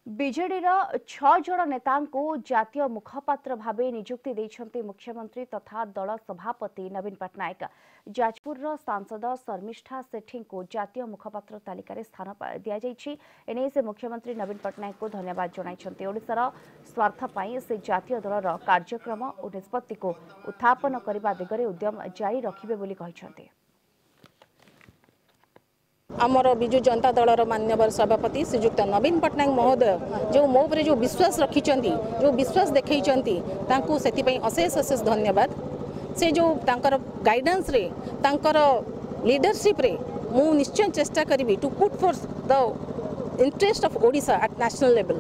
ବିଜେଡିର 6 ଜଣ ନେତାଙ୍କୁ ଜାତୀୟ ମୁଖପାତ୍ର ଭାବେ ନିଯୁକ୍ତି ଦେଇଛନ୍ତି ମୁଖ୍ୟମନ୍ତ୍ରୀ ତଥା ଦଳ ସଭାପତି ନବୀନ ପଟ୍ଟନାୟକ। ଯାଜପୁରର ସାଂସଦ ଶର୍ମିଷ୍ଠା ସେଠୀଙ୍କୁ ଜାତୀୟ ମୁଖପାତ୍ର ତାଲିକାରେ ସ୍ଥାନ ଦିଆଯାଇଛି। ଏନେଇ ସେ ମୁଖ୍ୟମନ୍ତ୍ରୀ ନବୀନ ପଟ୍ଟନାୟକଙ୍କୁ ଧନ୍ୟବାଦ ଜଣାଇଛନ୍ତି। ଓଡ଼ିଶାର ସ୍ୱାର୍ଥ ପାଇଁ ସେ ଜାତୀୟ ଦଳର କାର୍ଯ୍ୟକ୍ରମ ଓ ନିଷ୍ପତ୍ତିକୁ ଉତ୍ଥାପନ କରିବା ଦିଗରେ ଉଦ୍ୟମ ଜାରି ରଖିବେ ବୋଲି କହିଛନ୍ତି। ଆମର ବିଜୁ ଜନତା ଦଳର ମାନ୍ୟବର ସଭାପତି ଶ୍ରୀଯୁକ୍ତ ନବୀନ ପଟ୍ଟନାୟକ ମହୋଦୟ ଯେଉଁ ମୋ ଉପରେ ଯେଉଁ ବିଶ୍ୱାସ ରଖିଛନ୍ତି, ଯେଉଁ ବିଶ୍ୱାସ ଦେଖେଇଛନ୍ତି, ତାଙ୍କୁ ସେଥିପାଇଁ ଅଶେଷ ଅଶେଷ ଧନ୍ୟବାଦ। ସେ ଯେଉଁ ତାଙ୍କର ଗାଇଡାନ୍ସରେ, ତାଙ୍କର ଲିଡରସିପ୍ରେ ମୁଁ ନିଶ୍ଚୟ ଚେଷ୍ଟା କରିବି to put forth the interest of Odisha at national level.